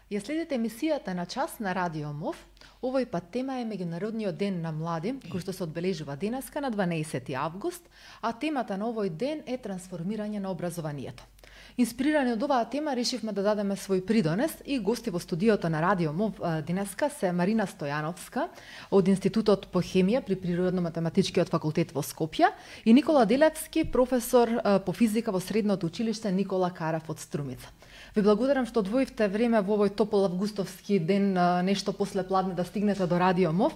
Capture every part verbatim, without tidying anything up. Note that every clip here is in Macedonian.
Ја следите емисијата на час на Радио МОВ. Овој пат тема е Меѓународниот ден на млади, кој што се одбележува денеска на дванаесети август, а темата на овој ден е трансформирање на образованието. Инспирирани од оваа тема, решивме да дадеме свој придонес и гости во студиото на Радио МОВ денеска се Марина Стојановска од Институтот по хемија при Природно-математичкиот факултет во Скопје и Никола Делевски, професор по физика во Средното училиште Никола Карав од Струмица. Ви благодарам што одвоивте време во овој топол августовски ден, нешто после пладне, да стигнете до Радио МОВ.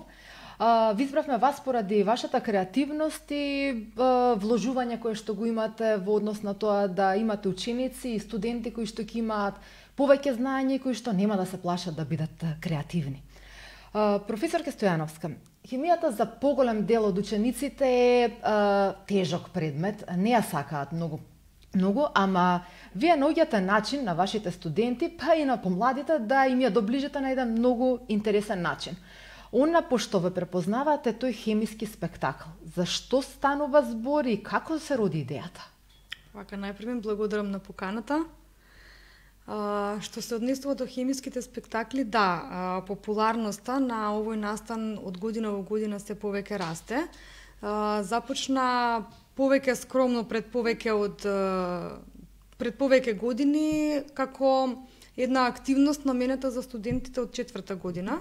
Ви избравме вас поради вашата креативност и вложување кое што го имате во однос на тоа да имате ученици и студенти кои што ќе имаат повеќе знаење и кои што нема да се плашат да бидат креативни. Професорке Стојановска, хемијата за поголем дел од учениците е тежок предмет, не ја сакаат многу многу, ама вие наоѓате начин на вашите студенти, па и на помладите, да им ја доближите на еден многу интересен начин. Она пошто ве препознавате тој хемиски спектакл. Зашто станува збор и како се роди идејата? Вака, најпрво благодарам на поканата. А, што се однесува до хемиските спектакли, да, а, популарноста на овој настан од година во година се повеќе расте. А, започна повеќе скромно пред повеќе од пред повеќе години како една активност наменета за студентите од четврта година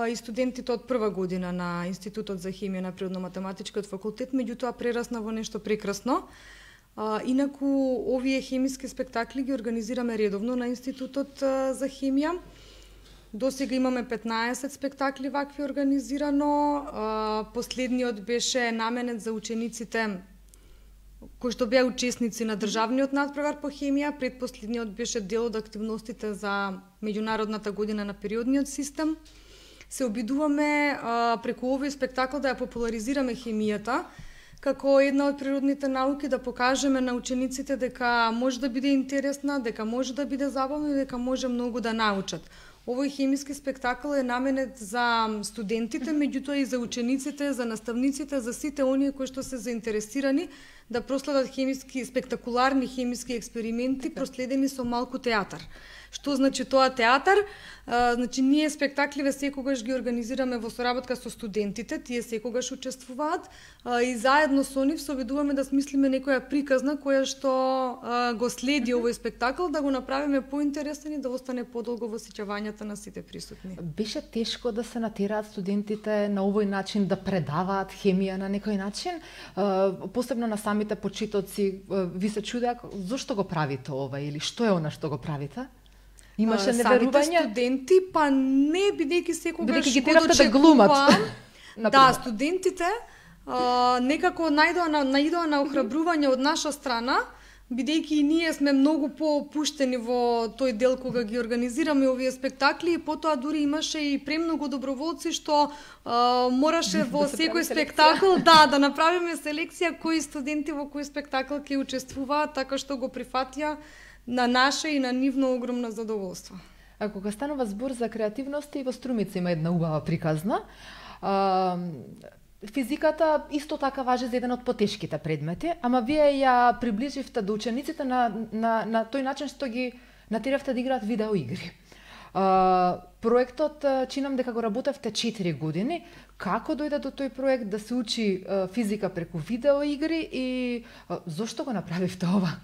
и студентите од прва година на Институтот за хемија на Природно-математичкиот факултет, меѓутоа прерасна во нешто прекрасно. Инаку овие хемиски спектакли ги организираме редовно на Институтот за хемија. До сега имаме петнаесет спектакли вакви организирано. Последниот беше наменет за учениците кои што беа учесници на државниот надпревар по хемија. Предпоследниот беше дел од активностите за меѓународната година на периодниот систем. Се обидуваме а, преку овој спектакл да ја популаризираме хемијата како една од природните науки, да покажеме на учениците дека може да биде интересна, дека може да биде забавна и дека може многу да научат. Овој хемиски спектакл е наменет за студентите, меѓутоа и за учениците, за наставниците, за сите оние кои што се заинтересирани да проследат хемиски, спектакуларни хемиски експерименти, проследени со малку театар. Што значи тоа театар? А, значи, ние спектакливе секогаш ги организираме во соработка со студентите, тие секогаш учествуваат а, и заедно со нив се обидуваме да смислиме некоја приказна која што а, го следи овој спектакл, да го направиме поинтересен и да остане подолго во сеќавањата на сите присутни. Беше тешко да се натераат студентите на овој начин да предаваат хемија на некој начин? А, посебно на самите почетоци, ви се чудеа зошто го правите ова или што е она што го правите? Имаше неверување? Самите студенти, па не, бидејќи секогаш бидејќи ги теравте да глумат. Да, студентите а, некако најдоа на, најдоа на охрабрување од наша страна, бидејќи и ние сме многу поопуштени во тој дел кога ги организираме овие спектакли, и потоа дури имаше и премногу доброволци што а, мораше во да секој спектакл да да направиме селекција кои студенти во кој спектакл ќе учествуваат, така што го прифатија на наше и на нивно огромно задоволство. А кога станува збор за креативност, и во Струмица има една убава приказна. А, физиката исто така важи за еден од потешките предмети, ама вие ја приближивте до учениците на, на, на тој начин што ги натеравте да играат видеоигри. А, проектот, чинам дека го работевте четири години. Како дојде до тој проект да се учи а, физика преку видеоигри и а, зошто го направивте ова?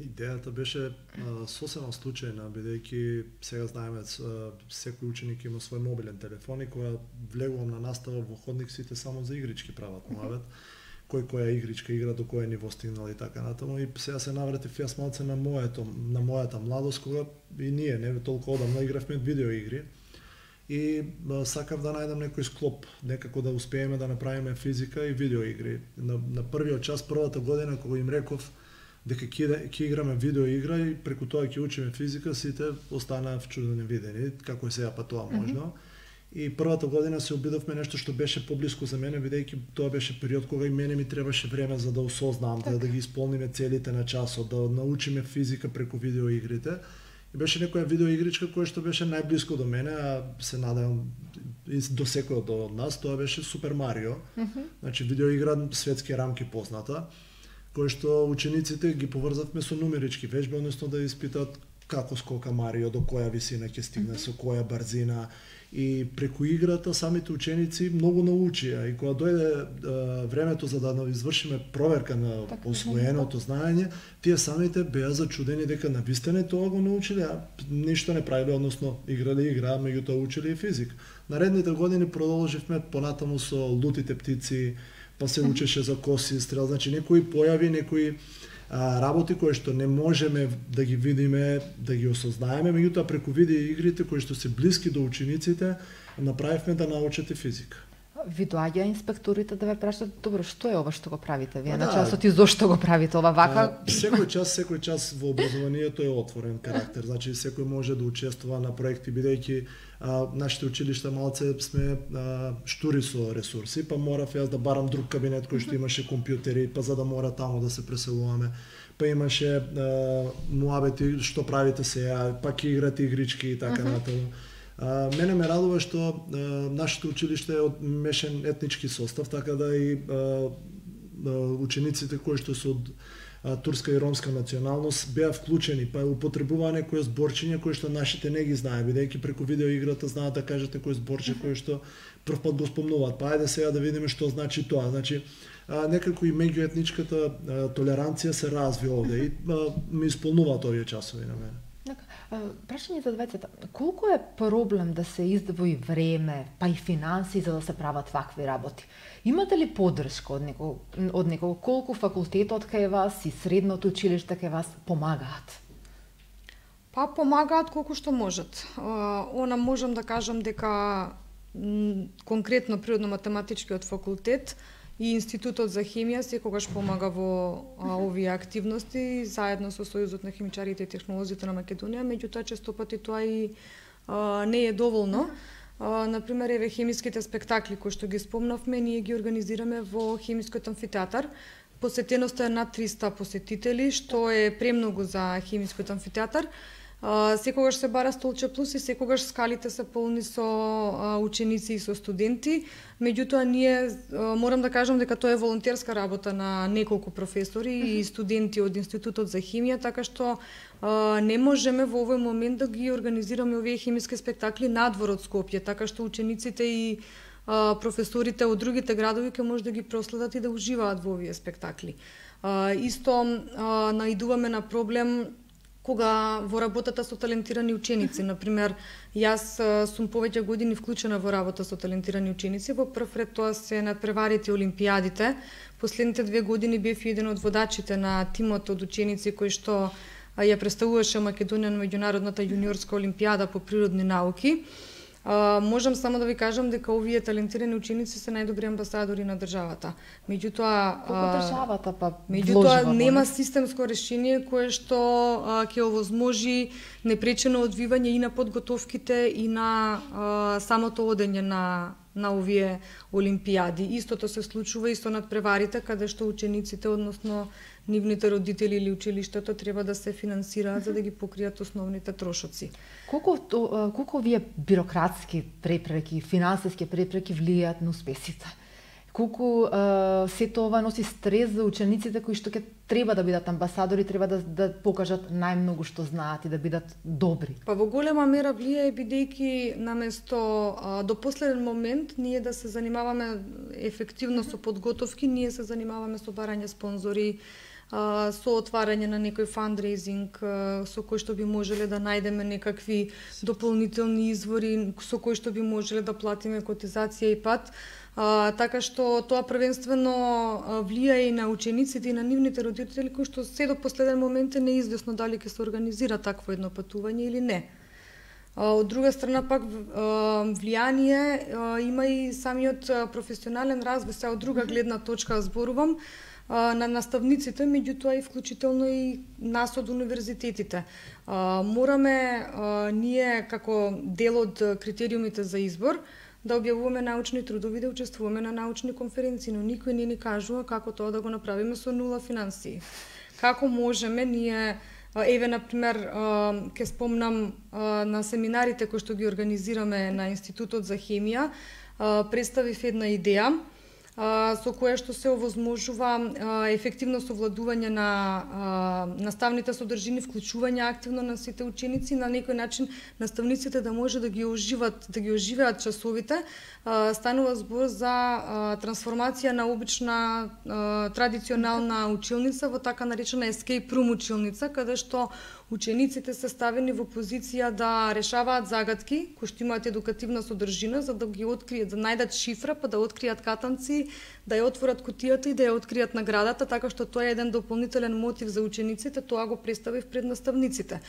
Идејата беше а, сосема случајна, бидејќи сега знаеме секој ученик има свој мобилен телефон и кога влегувам на настава во ходник, сите само за игрички прават муавет, кој која игричка игра, до кој ниво стигнал и така натаму. И сега се навратив јас малце на моето, на мојата младост, кога и ние не толку одамна игравме видеоигри. И а, сакав да најдам некој склоп, некако да успееме да направиме физика и видеоигри. На, на првиот час, првата година, кога им реков дека ќе играме видеоигра и преку тоа ќе учиме физика, сите останаа вчудени видени, како е сега па тоа можно. Mm -hmm. И првата година се обидовме нешто што беше поблиску за мене, бидејќи тоа беше период кога и мене ми требаше време за да осознам, да, да ги исполниме целите на часот, да научиме физика преку видеоигрите. И беше некоја видеоигричка која што беше најблиско до мене, а се надевам до секој од нас, тоа беше Супер Марио. Mm -hmm. Значи видеоигра светски рамки позната, кој што учениците ги поврзавме со нумерички вежби, односно да испитат како скока Марио, до која висина ќе стигне, со која брзина. И преку играта самите ученици многу научија и кога дојде е, времето за да извршиме проверка на так, освоеното знаење, тие самите беа зачудени дека навистина тоа го научиле, а ништо не правиле, односно играле игра, меѓутоа учеле и физик. Наредните години продолживме понатаму со лутите птици, па се учеше за коси стрел, значи некои појави, некои а, работи кои што не можеме да ги видиме, да ги осознаеме, меѓутоа преку видео игрите кои што се блиски до учениците, направивме да научат и физика. Ви доаѓа инспекторите да ве прашаат, добро, што е ова што го правите вие А, на да. часот и зошто го правите ова вака? А, секој час, секој час во образованието е отворен карактер, значи секој може да учествува на проекти, бидејќи а, нашите училишта малце сме а, штури со ресурси, па морав јас да барам друг кабинет кој што имаше компјутери, па за да мора таму да се преселуваме. Па имаше а, муабети што правите сега, па ќе играте игрички и така натаму. А, мене ме радува што а, нашето училиште е од мешен етнички состав, така да и а, а, учениците кои што се од а, турска и ромска националност беа вклучени, па употребуваа некои зборчиња кои што нашите не ги знае, бидејќи преку видеоиграта знаат да кажат некој зборче кој што прв пат го спомнуваат. Па ајде сега да видиме што значи тоа. Значи а, некако и меѓуетничката а, толеранција се разви овде и а, ми исполнуваат овие часови на мене. Прашање за двајцата. Колку е проблем да се издвои време, па и финанси за да се прават вакви работи? Имате ли поддршка од некого, од некого? Колку факултетот кај вас и средното училиште кај вас помагаат? Па помагаат колку што можат. Она можам да кажам дека конкретно природно-математичкиот факултет и Институтот за хемија секогаш помага во а, овие активности заедно со Сојузот на химичарите и технолозите на Македонија, меѓутоа често пати тоа и а, не е доволно. А, например, еве хемиските спектакли кои што ги спомнавме, ние ги организираме во хемискиот амфитеатар. Посетеноста е над триста посетители, што е премногу за хемискиот амфитеатар. Uh, секогаш се бара столче плюс и секогаш скалите се полни со uh, ученици и со студенти. Меѓутоа ние uh, морам да кажам дека тоа е волонтерска работа на неколку професори mm -hmm. и студенти од Институтот за химија, така што uh, не можеме во овој момент да ги организираме овие хемиски спектакли надвор од Скопје, така што учениците и uh, професорите од другите градови ќе може да ги проследат и да уживаат во овие спектакли. Uh, исто uh, наидуваме на проблем кога во работата со талентирани ученици. Например, јас сум повеќе години вклучена во работа со талентирани ученици. Во прв ред тоа се надпреварите олимпијадите. Последните две години бев еден од водачите на тимот од ученици кои што ја представуваше Македонија на меѓународната јуниорска олимпијада по природни науки. Uh, можам само да ви кажам дека овие талентирани ученици се најдобри амбасадори на државата. Меѓутоа, Колку државата па меѓутоа нема системско решение кое што uh, ќе овозможи непречено одвивање и на подготовките и на uh, самото одење на на овие олимпијади. Истото се случува и со надпреварите, каде што учениците, односно нивните родители или училиштето треба да се финансираат за да ги покријат основните трошоци. Колку колку овие бирократски препреки, финансиски препреки влијаат на успесите? Колку uh, се тоа носи стрес за учениците кои што ќе треба да бидат амбасадори, треба да, да покажат најмногу што знаат и да бидат добри? Па во голема мера влијае бидејќи наместо а, до последен момент ние да се занимаваме ефективно со подготовки, ние се занимаваме со барање спонзори, а, со отварање на некој фандрейзинг, а, со кој што би можеле да најдеме некакви дополнителни извори, со кој што би можеле да платиме котизација и пат. А, така што тоа првенствено влијае и на учениците и на нивните родители кои што се до последен момент е неизвестно дали ќе се организира такво едно патување или не. А, од друга страна пак влијание а, има и самиот професионален развој, се од друга гледна точка зборувам, а, на наставниците, меѓутоа и вклучително и нас од универзитетите. А, мораме а, ние како дел од критериумите за избор да објавуваме научни трудови, да учествуваме на научни конференции, но никој не ни кажува како тоа да го направиме со нула финансии. Како можеме ние, еве например, ќе спомнам на семинарите кои што ги организираме на Институтот за хемија, представив една идеја. со кое што се овозможува ефективно совладување на наставните содржини, вклучување активно на сите ученици, на некој начин наставниците да може да ги оживат, да ги оживеат часовите. Станува збор за трансформација на обична традиционална училница во така наречена escape room училница, каде што учениците се ставени во позиција да решаваат загадки кои што имаат едукативна содржина, за да ги откријат, да најдат шифра, па да откријат катанци, да ја отворат кутијата и да ја откријат наградата, така што тоа е еден дополнителен мотив за учениците, тоа го представив пред наставниците.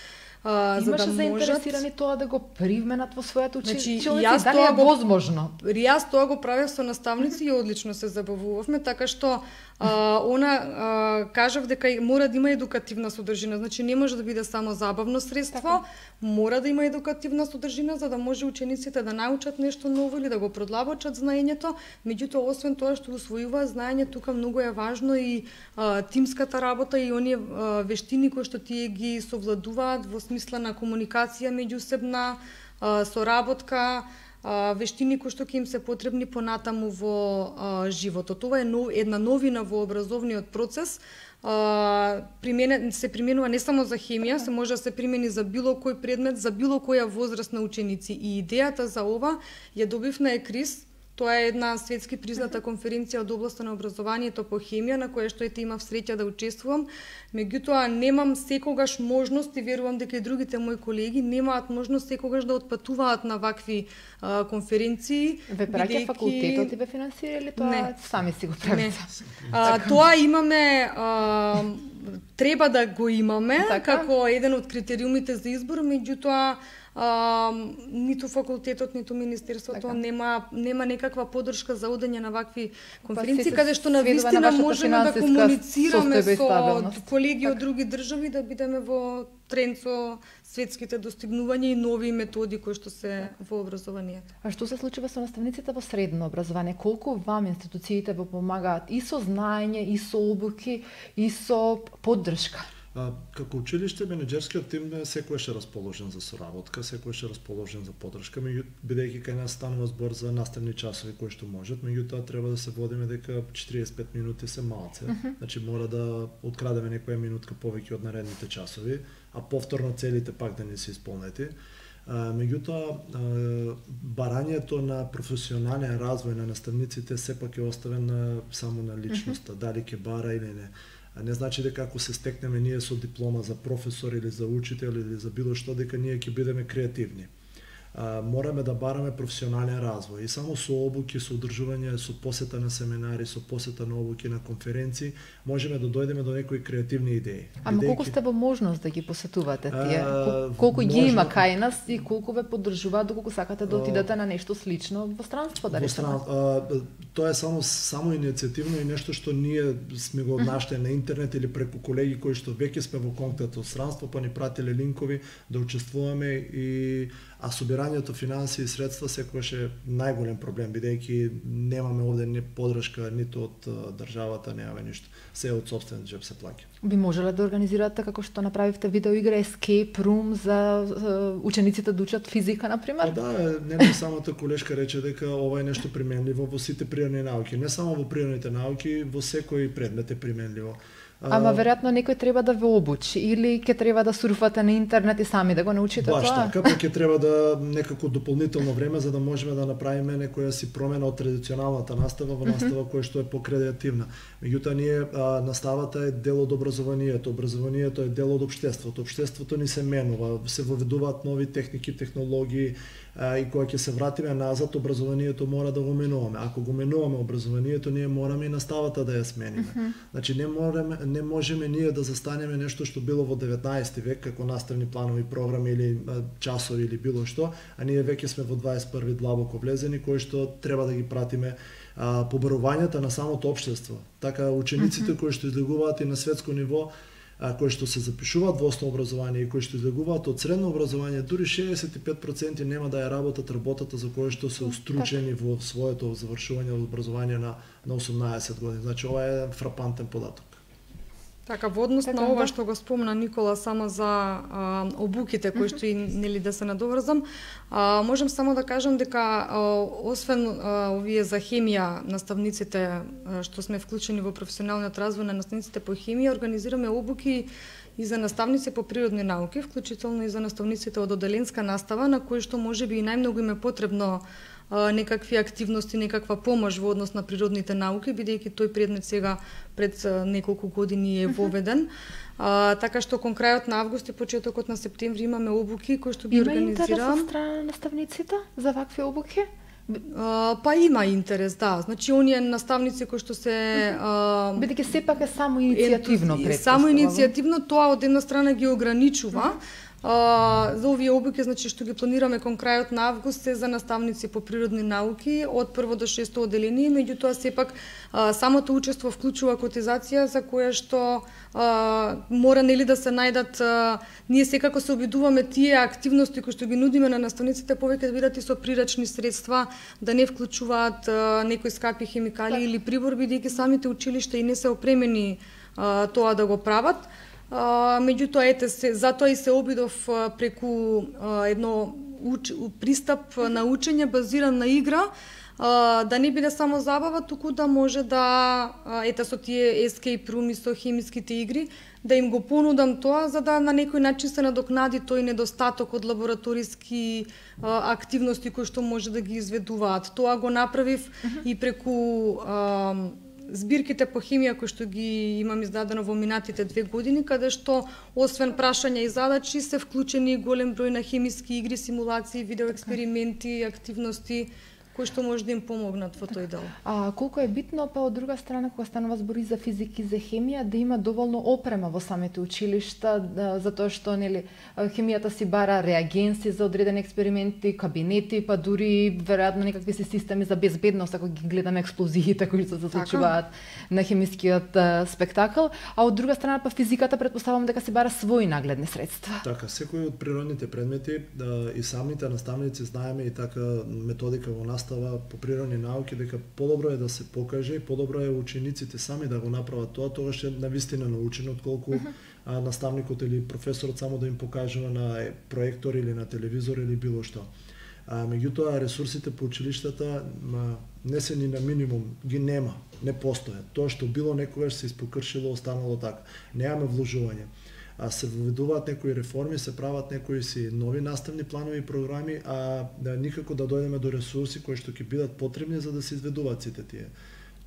А, Имаше за да заинтересирани можат... тоа да го привменат во својата училница, значи, дали е возможно? Јас тоа го правев со наставници и одлично се забавувавме, така што а, она а, кажав дека мора да има едукативна содржина, значи не може да биде само забавно средство, така. Мора да има едукативна содржина за да може учениците да научат нешто ново или да го продлабочат знаењето. Меѓутоа, освен тоа што усвојуваат знаење, тука многу е важно и а, тимската работа и оние а, вештини кои што тие ги совладуваат во смисла на комуникација меѓусебна, а, соработка, а, вештини кои што ќе им се потребни понатаму во а, животот. Тоа е нов, една новина во образовниот процес. Uh, примене, се применува не само за хемија, се може да се примени за било кој предмет, за било која возраст на ученици. И идејата за ова ја добив на ЕКРИС. Тоа е една светски призната конференција од областа на образованието по хемија, на која што ете имав среќа да учествувам. Меѓутоа, немам секогаш можност, и верувам дека и другите мои колеги немаат можност секогаш да отпатуваат на вакви а, конференции. Ве праќа бидејќи... факултетот и ве финансира или тоа не. Сами си го правите? А, тоа имаме, а, треба да го имаме, така? Како еден од критериумите за избор, меѓутоа, А, ниту факултетот, ниту министерството така. нема нема некаква поддршка за одење на вакви конференции, па каде што навистина можеме да комуницираме со колеги од други држави, да бидеме во тренд со светските достигнувања и нови методи кои што се во образованието. А што се случува со наставниците во средно образование? Колку вам институциите во помагаат и со знаење, и со обуки, и со поддршка? А, како училиште, менеџерскиот тим секојаш е расположен за соработка, секојаш е расположен за поддршка, бидејќи кај нас станува збор за наставни часови кои што можат, меѓутоа треба да се водиме дека четириесет и пет минути се малце. Uh -huh. Значи мора да открадеме некоја минутка повеќе од наредните часови, а повторно целите пак да не се исполнети. А, меѓутоа, барањето на професионален развој на наставниците сепак е оставено само на личноста, uh -huh. дали ќе бара или не. А не значи дека ако се стекнеме ние со диплома за професор или за учител или за било што, дека ние ќе бидеме креативни. А, мораме да бараме професионален развој и само со обуки, со одржување, со посета на семинари, со посета на обуки на конференции, можеме да дојдеме до некои креативни идеи. Ама Бидејќи... колку сте во можност да ги посетувате тие? А, колку ги има кај нас и колку ве поддржуваат доколку сакате да отидете на нешто слично во странство, да речеме? Тоа е само само иницијативно и нешто што ние сме го однаштали на интернет или преку колеги кои што веќе сме во контакт со странство, па ни пратиле линкови да учествуваме и а собирањето финансии и средства секогаш е најголем проблем, бидејќи немаме овде ни поддршка ниту од државата, немаме ништо. Се од сопствен џеп се плаќа. Би можеле да организирате како што направивте видеоигра Escape Room за учениците да учат физика, например? А, да, не самата колешка рече дека ова е нешто применливо во сите природни науки, не само во природните науки, во секој предмет е применливо. Ама веројатно некој треба да ве обучи или ќе треба да сурфате на интернет и сами да го научите Баш тоа? Баш така, па ќе треба да некако дополнително време за да можеме да направиме некоја си промена од традиционалната настава во настава која што е покреативна. Меѓутоа ние а, наставата е дел од образованието, образованието е дел од општеството. Општеството ни се менува, се воведуваат нови техники, технологии, а, и кога ќе се вратиме назад, образованието мора да го менуваме. Ако го менуваме образованието, ние мораме и наставата да ја смениме. Uh -huh. Значи не можеме не можеме ние да застанеме нешто што било во деветнаесети век како наставни планови, програми или а, часови или било што, а ние веќе сме во дваесет и први длабоко влезени, кои што треба да ги пратиме а, побарувањата на самото општество. Така учениците uh -huh. кои што излегуваат и на светско ниво, а, кои што се запишуваат во основно образование и кои што излегуваат од средно образование, дури шеесет и пет проценти нема да ја работат работата за која што се устручени во своето завршување од образование на на осумнаесет години. Значи ова е фрапантен податок. Така, во однос така, на ова да. што го спомна Никола само за а, обуките кои што и нели да се надоврзам, а, можам само да кажам дека а, освен а, овие за хемија наставниците а, што сме вклучени во професионалниот развој на наставниците по хемија, организираме обуки и за наставници по природни науки, вклучително и за наставниците од оделенска настава, на кои што можеби и најмногу им е потребно а, некакви активности, некаква помош во однос на природните науки, бидејќи тој предмет сега пред а, неколку години е воведен. А, така што кон крајот на август и почетокот на септември имаме обуки кои што ги Има интерес организирам. од страна на наставниците за вакви обуки? А, па има интерес, да. Значи оние наставници кои што се а, Бидејќи сепак е само иницијативно ентузи- предпоставам. Само иницијативно, тоа од една страна ги ограничува. А, за овие обуки, значи што ги планираме кон крајот на август, се за наставници по природни науки од прво до шесто оделение, меѓутоа сепак а, самото учество вклучува котизација за која што а, мора нели да се најдат, а, ние секако се обидуваме тие активности кои што ги нудиме на наставниците повеќе да бидат и со прирачни средства, да не вклучуваат а, некои скапи хемикали Так. или прибор, бидејќи самите училишта и не се опремени а, тоа да го прават. А, меѓутоа, ете се, затоа и се обидов а, преку а, едно уч, пристап на учење базиран на игра, а, да не биде само забава, туку да може да, а, ете со тие escape room и со хемиските игри, да им го понудам тоа, за да на некој начин се надокнади тој недостаток од лабораториски а, активности кои што може да ги изведуваат. Тоа го направив uh-huh. и преку а, збирките по хемија кои што ги имам издадено во минатите две години, каде што освен прашања и задачи се вклучени голем број на хемиски игри, симулации, видеоексперименти, активности кои што може да им помогнат во тој дел. А колку е битно, па од друга страна, кога станува збор и за физика и за хемија, да има доволно опрема во самите училишта, да, затоа што нели хемијата си бара реагенси за одредени експерименти, кабинети, па дури веројатно некакви си системи за безбедност, ако ги гледаме експлозиите кои што се случуваат на хемискиот а, спектакл, а од друга страна па физиката претпоставувам дека си бара своји нагледни средства. Така, секој од природните предмети да, и самите наставници знаеме и така методика во настава по природни науки дека подобро е да се покаже и подобро е учениците сами да го направат тоа, тогаш е навистина научено отколку uh-huh. а, наставникот или професорот само да им покажува на проектор или на телевизор или било што. А, меѓутоа ресурсите по училиштата ма, не се ни на минимум, ги нема, не постојат. Тоа што било некогаш се испокршило, останало така. Немаме вложување. А се введуваат некои реформи, се прават некои си нови наставни планови и програми, а да, никако да дојдеме до ресурси кои што ќе бидат потребни за да се изведуваат сите тие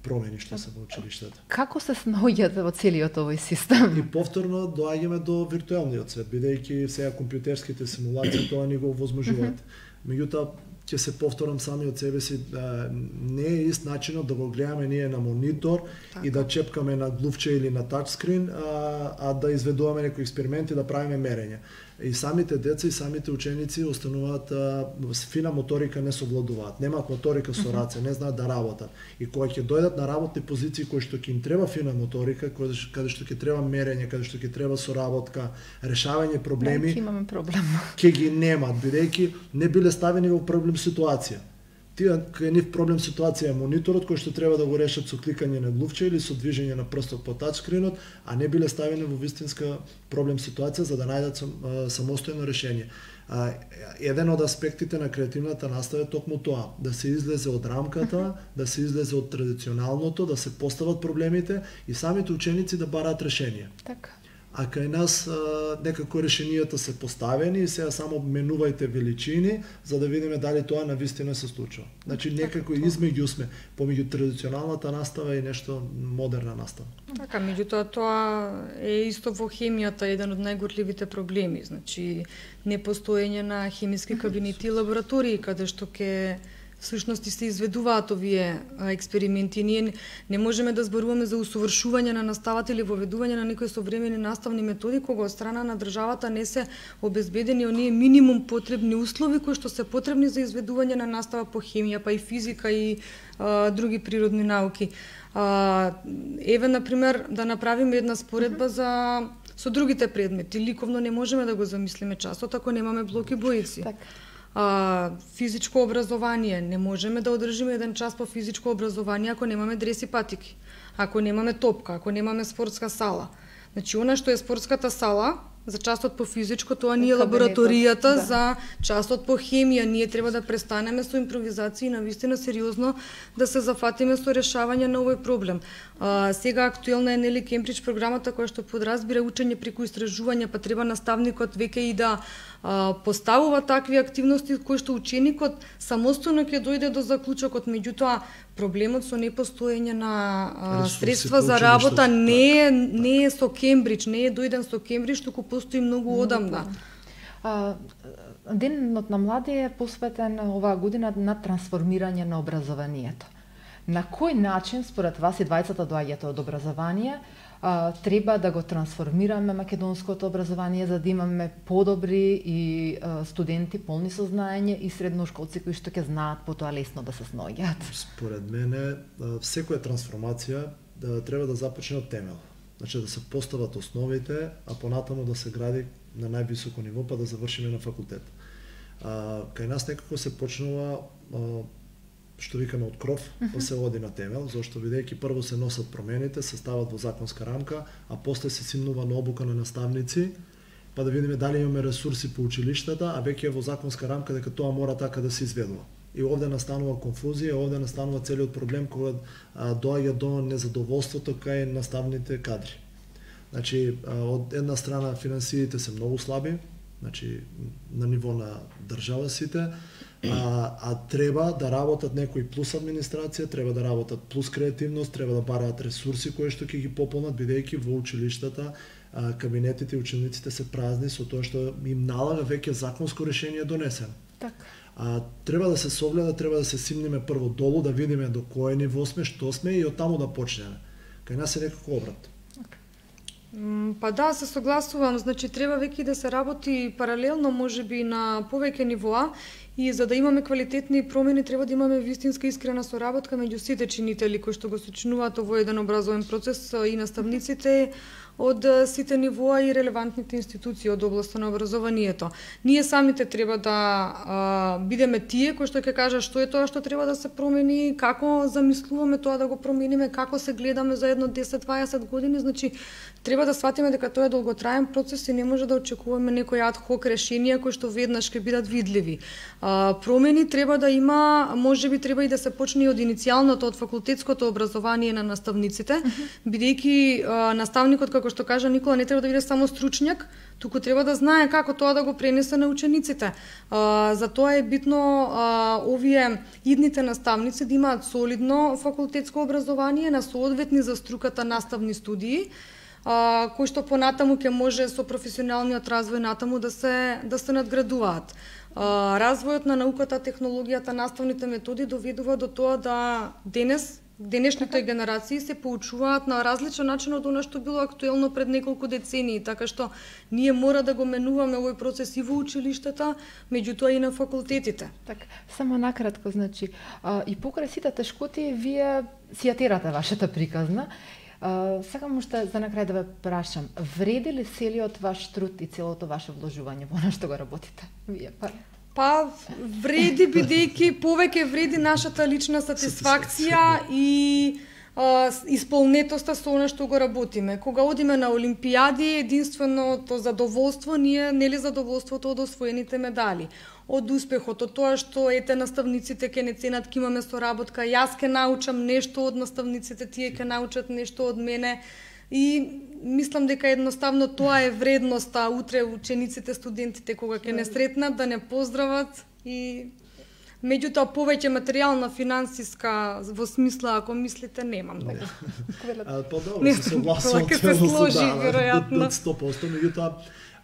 промени што се во училиштата. Како се снаоѓате во целиот овој систем? И повторно доаѓаме до виртуелниот свет, бидејќи сега компјутерските симулации тоа ни го овозможуваат. Меѓутоа ќе се повторам сами од себе си, да, не е ист начинот да го гледаме ние на монитор така. И да чепкаме на глувче или на тачскрин, а, а да изведуваме некои експерименти, да правиме мерења. И самите деца и самите ученици остануваат а, фина моторика не совладуваат, немаат моторика со раце, не знаат да работат. И кога ќе дојдат на работни позиции кои што ќе им треба фина моторика, каде што ќе треба мерење, каде што ќе треба соработка, решавање проблеми, ќе имаме проблем. Ќе ги немат, бидејќи не биле ставени во проблем ситуација. Тие кај нив проблем ситуација е мониторот кој што треба да го решат со кликање на глувче или со движење на прстот по тачскринот, а не биле ставени во вистинска проблем ситуација за да најдат сам, самостојно решение. А, еден од аспектите на креативната настава е токму тоа, да се излезе од рамката, да се излезе од традиционалното, да се постават проблемите и самите ученици да бараат решенија. Така. А кај нас а, некако решенијата се поставени и сега само менувајте величини за да видиме дали тоа навистина се случува. Значи некако измеѓу сме помеѓу традиционалната настава и нешто модерна настава. Така, меѓутоа тоа е исто во хемијата еден од најгорливите проблеми, значи непостоење на хемиски кабинети и лаборатории каде што ќе всушност се изведуваат овие експерименти. Ние не можеме да зборуваме за усовршување на наставата или воведување на некои современи наставни методи кога од страна на државата не се обезбедени оние минимум потребни услови кои што се потребни за изведување на настава по хемија, па и физика и а, други природни науки. А, еве, например, да направиме една споредба за со другите предмети. Ликовно не можеме да го замислиме часот ако немаме блоки боици. Така. А, физичко образование, не можеме да одржиме еден час по физичко образование ако немаме дреси патики, ако немаме топка, ако немаме спортска сала. Значи, она што е спортската сала, за частот по физичко, тоа ни е Кабинетот, лабораторијата, да. за частот по хемија. Ние треба да престанеме со импровизација и навистина сериозно да се зафатиме со решавање на овој проблем. А, сега актуелна е нели Кембридж програмата која што подразбира учење преку истражување, па треба наставникот веќе и да а, поставува такви активности кои што ученикот самостојно ќе дојде до заклучокот. Меѓутоа, проблемот со непостоење на а, Ресурси средства по за училиштето, работа не е, така. не е со Кембридж, не е дојден со Кембридж, туку постои многу одамна. А, Денот на млади е посветен оваа година на трансформирање на образованието. На кој начин, според вас и двајцата доаѓате од образование, а, треба да го трансформираме македонското образование за да имаме подобри и а, студенти полни со знаење и средношколци кои што ќе знаат потоа лесно да се сноѓаат? Според мене, секоја трансформација да треба да започне од темел. Значи да се постават основите, а понатаму да се гради на највисоко ниво, па да завршиме на факултет. А, кај нас некако се почнува, а, што викаме од кров, па се оди на темел, зашто бидејќи прво се носат промените, се стават во законска рамка, а после се симнува на обука на наставници, па да видиме дали имаме ресурси по училиштата, а веќе е во законска рамка дека тоа мора така да се изведува. И овде настанува конфузија, овде настанува целиот проблем кога а, доаѓа до незадоволството кај наставните кадри. Значи, а, од една страна финансиите се многу слаби, значи на ниво на држава сите, а, а треба да работат некои плюс администрација, треба да работат плюс креативност, треба да бараат ресурси кои што ќе ги пополнат, бидејќи во училиштата а, кабинетите и учениците се празни со тоа што им налага веќе законско решение донесено. Така. А, треба да се согледа, треба да се симнеме прво долу, да видиме до кое ниво сме, што сме и од таму да почнеме. Кај нас е некако обрат. Па да, се согласувам, значи треба веќе да се работи паралелно, можеби на повеќе нивоа, и за да имаме квалитетни промени треба да имаме вистинска искрена соработка меѓу сите чинители кои што го сочинуваат овој еден образовен процес и наставниците од сите нивоа и релевантните институции од областа на образованието. Ние самите треба да а, бидеме тие кои што ќе кажа што е тоа што треба да се промени, како замислуваме тоа да го промениме, како се гледаме за едно десет-дваесет години, значи треба да сватиме дека тоа е долготраен процес и не може да очекуваме некои ад хок решенија кои што веднаш ќе бидат видливи. А, промени треба да има, можеби треба и да се почне од иницијалното, од факултетското образование на наставниците, бидејќи наставникот, како што кажа Никола, не треба да биде само стручњак, туку треба да знае како тоа да го пренесе на учениците. А, за тоа е битно а, овие идните наставници да имаат солидно факултетско образование на соодветни за струката наставни студии, а, кои што понатаму ќе може со професионалниот развој натаму да се да се надградуваат. А, развојот на науката, технологијата, наставните методи доведува до тоа да денес денешните генерации се поучуваат на различен начин од она што било актуелно пред неколку децении, така што ние мора да го менуваме овој процес и во училиштата, меѓутоа и на факултетите. Така, само накратко, значи, а, и покрај сите тешкоти вие си ја терате вашата приказна. А, сакам уште за накрај да ве прашам, вреди ли целиот ваш труд и целото ваше вложување во она што го работите? Вие па Па вреди, бидејќи повеќе вреди нашата лична сатисфакција и а, исполнетоста со она што го работиме. Кога одиме на олимпијади, единственото задоволство ние нели задоволството од освоените медали, од успехот, од тоа што ете наставниците ќе не ценат, ќе имаме соработка, јас ќе научам нешто од наставниците, тие ќе научат нешто од мене. И мислам дека едноставно тоа е вредноста утре учениците, студентите кога ќе не сретнат да не поздрават и меѓутоа повеќе материјална, финансиска во смисла ако мислите немам дека. А, па добро, се согласувам ќе се сложи веројатно сто проценти, меѓутоа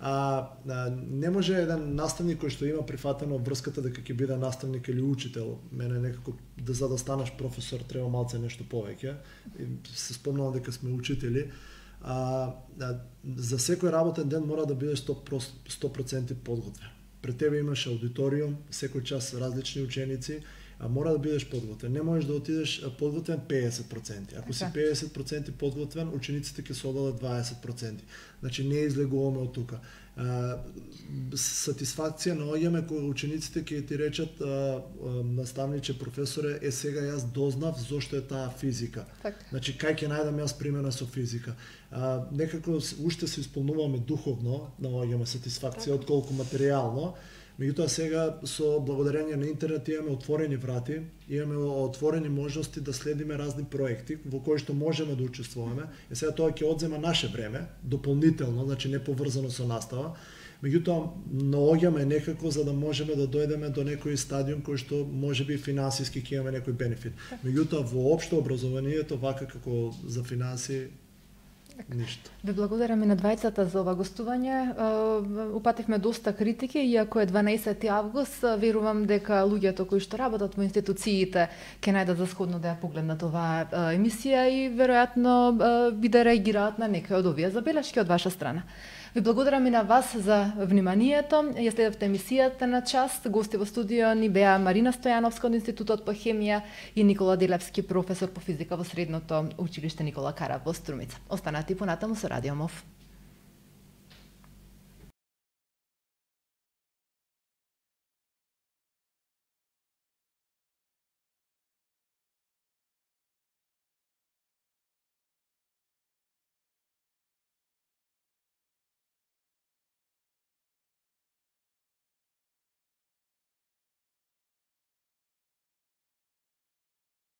А, а, не може еден наставник кој што има прифатено врската дека ќе биде наставник или учител. Мене некако да за да станеш професор треба малце нешто повеќе. И се спомнувам дека сме учители. А, а, за секој работен ден мора да бидеш сто проценти подготвен. Пред тебе имаш аудиториум, секој час различни ученици, а мора да бидеш подготвен. Не можеш да отидеш подготвен педесет проценти. Ако си педесет проценти подготвен, учениците ќе се одадат дваесет проценти. Значи не излегуваме од тука. А, сатисфакција наоѓаме кога учениците ќе ти речат а, а, наставниче, професоре, е сега јас дознав зошто е таа физика. Так. Значи кај ќе најдам јас примена со физика. А, некако уште се исполнуваме духовно, наоѓаме сатисфакција так. отколку материјално. Меѓутоа сега со благодарение на интернет имаме отворени врати, имаме отворени можности да следиме разни проекти во кои што можеме да учествуваме. И сега тоа ќе одзема наше време, дополнително, значи не поврзано со настава. Меѓутоа наоѓаме некако за да можеме да дојдеме до некој стадиум кој што можеби финансиски ќе имаме некој бенефит. Меѓутоа во општо образованието вака како за финанси ништо. Ви благодарам и на двајцата за ова гостување. Упативме доста критики, иако е дванаесети август, верувам дека луѓето кои што работат во институциите ќе најдат за сходно да ја погледнат оваа емисија и веројатно би да реагираат на некои од овие забелешки од ваша страна. Ви благодарам и на вас за вниманието. Ја следевте емисијата на час. Гости во студио ни беа Марина Стојановска од Институтот по хемија и Никола Делевски, професор по физика во Средното училиште Никола Карав во Струмица. Останете и понатаму со Радио МОВ.